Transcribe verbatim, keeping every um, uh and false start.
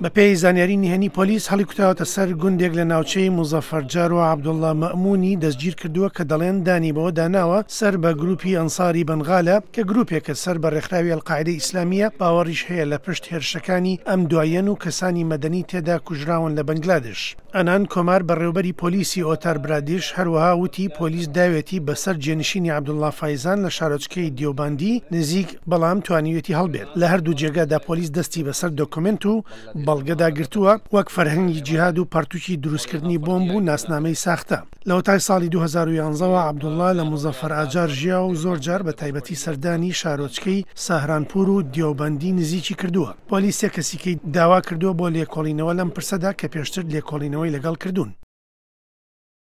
بەپێی زانیاری نهێنی پۆلیس هەڵیکوتاوەتە سەر گوندێک لە ناوچەی موزەفەرجار و عەبدوڵڵا مەئمونی دەستگیرکردووە کە دەڵێن دانی بەوەدا ناوە سەر بە گروپی ئەنساری بەنغالە کە گروپێکە سەر بە ڕێکخراوی ئەلقاعیدەی ئیسلامییە، باوەڕیش هەیە لە پشت هێرشەکانی ئەم دواییەن و کەسانی مەدەنی تێدا کوژراون لە بەنگلادش. ئەنان کۆمار بەڕێوبەری پۆلیسی ئۆتار برادیش هەروەها وتی پۆلیس داوێتی بەسەر جێنشینی عەبدوڵڵا فایزان لە شارۆچکەی دیۆباندی نزیک بەڵام توانیوێتی هەڵبێت. لە هەردوو جێگادا پۆلیس دەستی بەسەر دۆکۆمێنت و بەڵگەدا گرتووە وەک فەرهەنگی جیهاد و پەرتوکی دروستکردنی بۆمب و ناسنامەی ساختە. لەوەتای ساڵی دوو هەزار و یازدە وە عەبدوڵڵا لە موزەفەر ئاجار ژیا و زۆر جار بە تایبەتی سەردانی شارۆچکەی ساهرانپور و دیۆبەندی نزیکی کردووە. پۆلیس سێ کەسیکەی داوا کردووە بۆ لێکۆڵینەوە لەم پرسەدا کە پێشتر لێکۆڵینەوەی لەگەڵ کردوون.